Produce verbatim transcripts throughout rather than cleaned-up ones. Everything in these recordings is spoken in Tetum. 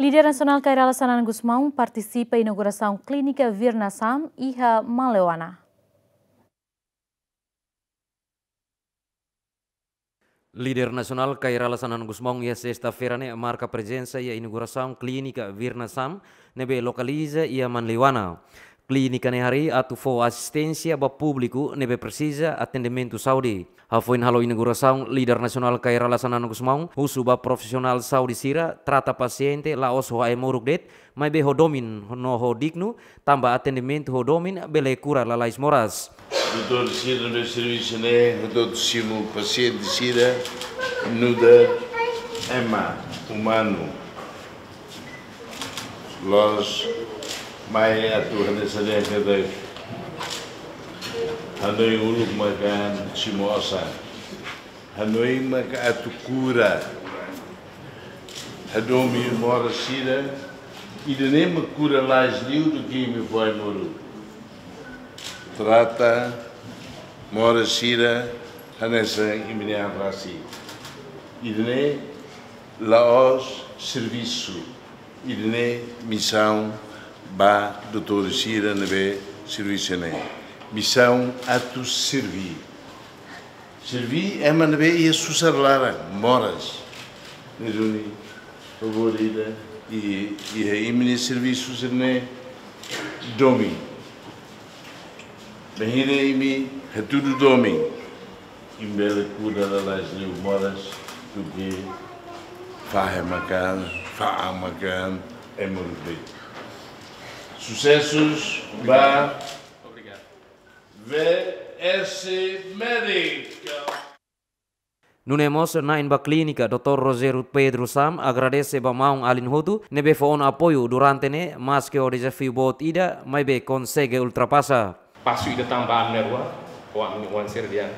Líder nasionál Kay Rala Xanana Gusmão partisipa inaugurasaun klínika Virna Sam iha Manleuana. Líder nasionál Kay Rala Xanana Gusmão iha sesta-feira ne'e marka prezensa iha inaugurasaun klínika Virna Sam ne'ebé lokaliza iha Manleuana. Klínika ne'e harii atu fó asisténsia ba públiku ne'ebé presiza atendimentu saúde. Hafoin halo inaugurasaun, líder nasionál Kay Rala Xanana Gusmão husu ba profisionál saúde sira trata pasiente la'ós ho ai-moruk de'it, maibé ho domin no ho dignu, tanba atendimentu ho domin bele kura lalais moras. Doutór sira ne'ebé servisu ne'e, doutór simu pasiente sira, nu'udar ema umanu. La'ós mai atu hanesan dehan katak hanoin uluk maka simu osan. Hanoin maka atu kura. Hadomi moras sira, ida-ne'e mak kura lalais liu duké imi fó ai-moruk. Trata moras sira hanesan imi-nia an rasik. Ida-ne'e la'ós servisu. Ida-ne'e misaun ba doutór sira ne'ebé servisu ne'e. Misaun atu serví. Serví ema ne'ebé iha susar laran, moras. Ne'e duni, favór ida, i, iha imi-nia servisu sira-ne'e domin. Bainhira imi hatudu domin, imi bele kura lalais liu moras duké fahe makan, fa'an makan, ai-moruk de'it. Susesus ba V S Médica. Nune'e mós na'in ba klínika, doutór Rogério Pedro Sam agradese ba maun-alin hotu ne'ebé fó ona apoiu durante ne'e, maske ho dezafiu boot ida, maibé konsege ultrapasa. Pasu ida tan ba ami na'in-rua, ho ami-nia oan sira dehan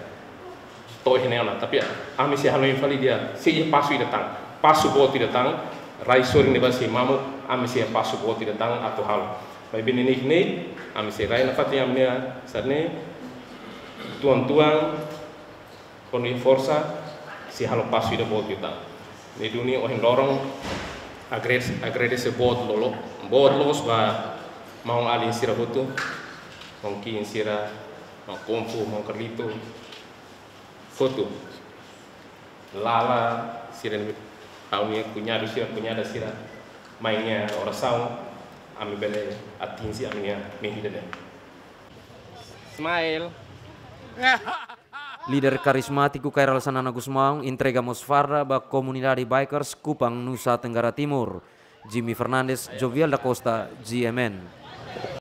to'o iha ne'e ona, tapi ami sei hanoin fali dehan sei iha pasu ida tan, pasu boot ida tan, rai sorin ne'ebá sei mamuk, ami sei iha pasu boot ida tan atu halo. Maibé neineik ne'e, ami sei rai nafatin ami-nia sira-ne'e, tuan-tuan, ho nia forsa, sei halo pasu ida boot ida tan. Ne'e duni ohin loron, agradese, agradese boot lolo, boot loos ba maun-alin sira hotu, maun Kiin sira, maun Konfu, maun Carlito, hotu. Lala sira, ha'u-nia kuñadu sira, kuñada sira, mai nia orasaun, ami bele atinje ami-nia mehi ida-ne'e. Smile. Líder karizmátiku Kay Rala Xanana Gusmão entrega mós farda ba komunidade bikers Kupang, Nusa Tenggara Timur. Jimmy Fernandes, Jovial da Costa, G M N.